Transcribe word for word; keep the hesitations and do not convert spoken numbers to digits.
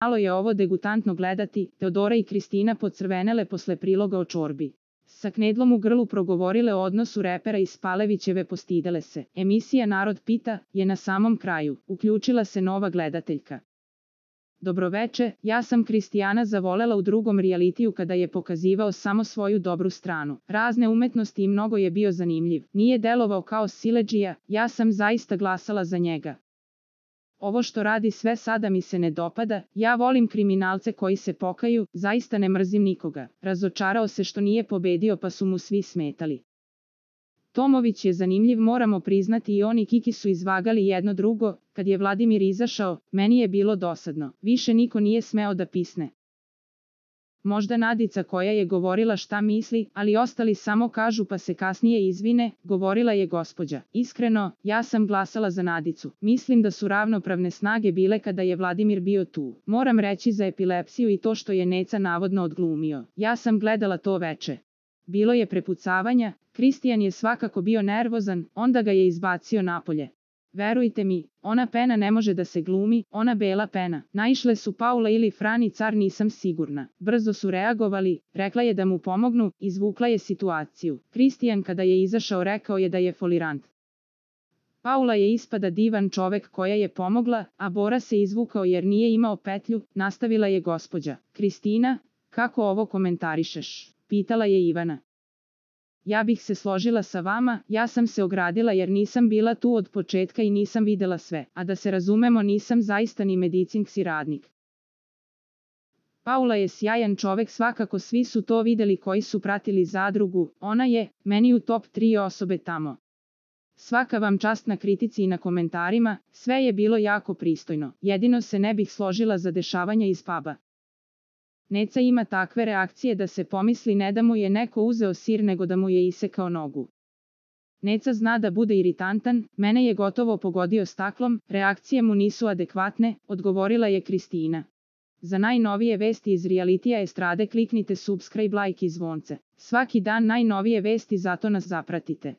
Malo je ovo degutantno gledati, Teodora i Kristina pocrvenele posle priloga o čorbi. Sa knedlom u grlu progovorile o odnosu repera i Spalevićeve postidele se. Emisija Narod pita je na samom kraju. Uključila se nova gledateljka. Dobroveče, ja sam Kristijana zavolela u drugom realitiju kada je pokazivao samo svoju dobru stranu. Razne umetnosti i mnogo je bio zanimljiv. Nije delovao kao siledžija, ja sam zaista glasala za njega. Ovo što radi sve sada mi se ne dopada, ja volim kriminalce koji se pokaju, zaista ne mrzim nikoga. Razočarao se što nije pobedio pa su mu svi smetali. Tomović je zanimljiv, moramo priznati, i on i Kiki su izvagali jedno drugo. Kad je Vladimir izašao, meni je bilo dosadno. Više niko nije smeo da pisne. Možda Nadica koja je govorila šta misli, ali ostali samo kažu pa se kasnije izvine, govorila je gospođa. Iskreno, ja sam glasala za Nadicu. Mislim da su ravnopravne snage bile kada je Vladimir bio tu. Moram reći za epilepsiju i to što je Neca navodno odglumio. Ja sam gledala to veče. Bilo je prepucavanja, Kristijan je svakako bio nervozan, onda ga je izbacio napolje. Verujte mi, ona pena ne može da se glumi, ona bela pena. Naišle su Paula ili Frani Car, nisam sigurna. Brzo su reagovali, rekla je da mu pomognu, izvukla je situaciju. Kristijan kada je izašao rekao je da je folirant. Paula je ispada divan čovek koja je pomogla, a Bora se izvukao jer nije imao petlju, nastavila je gospođa. Kristina, kako ovo komentarišeš? Pitala je Ivana. Ja bih se složila sa vama, ja sam se ogradila jer nisam bila tu od početka i nisam videla sve, a da se razumemo, nisam zaista ni medicinski radnik. Paula je sjajan čovek, svakako svi su to videli koji su pratili Zadrugu, ona je, meni u top tri osobe tamo. Svaka vam čast na kritici i na komentarima, sve je bilo jako pristojno, jedino se ne bih složila za dešavanja iz puba. Neca ima takve reakcije da se pomisli ne da mu je neko uzeo sir nego da mu je isekao nogu. Neca zna da bude iritantan, mene je gotovo pogodio staklom, reakcije mu nisu adekvatne, odgovorila je Kristina. Za najnovije vesti iz realitija estrade kliknite subscribe, like i zvonce. Svaki dan najnovije vesti, zato nas zapratite.